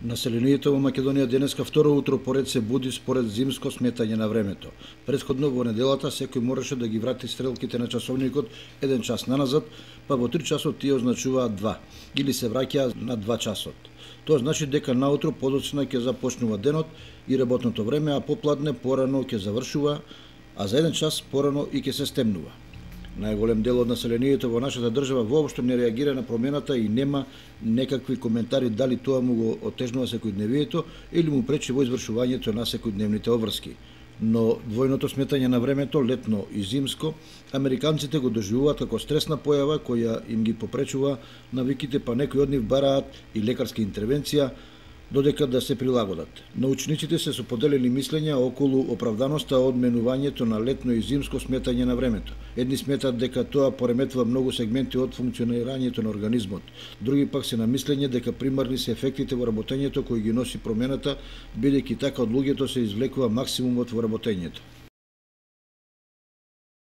Населението во Македонија денеска второ утро поред се буди според зимско сметање на времето. Претходно во неделата секој мораше да ги врати стрелките на часовникот 1 час наназад, па во 3 часот тие означуваат 2, или се враќаа на 2 часот. Тоа значи дека наутро подоцна ќе започнува денот и работното време, а попладне порано ќе завршува, а за 1 час порано и ќе се стемнува. Најголем дел од населението во нашата држава воопшто не реагира на промената и нема некакви коментари дали тоа му го отежнува секојдневието или му пречи во извршувањето на секојдневните обврски. Но двојното сметање на времето, летно и зимско, американците го доживуваат како стресна појава која им ги попречува навиките, па некои од нив бараат и лекарска интервенција додека да се прилагодат. Научниците се со поделени мислења околу оправданоста од менувањето на летно и зимско сметање на времето. Едни сметат дека тоа пореметува многу сегменти од функционирањето на организмот. Други пак се на мислење дека примарни се ефектите во работењето кои ги носи промената, бидејќи така од луѓето се извлекува максимумот во работењето.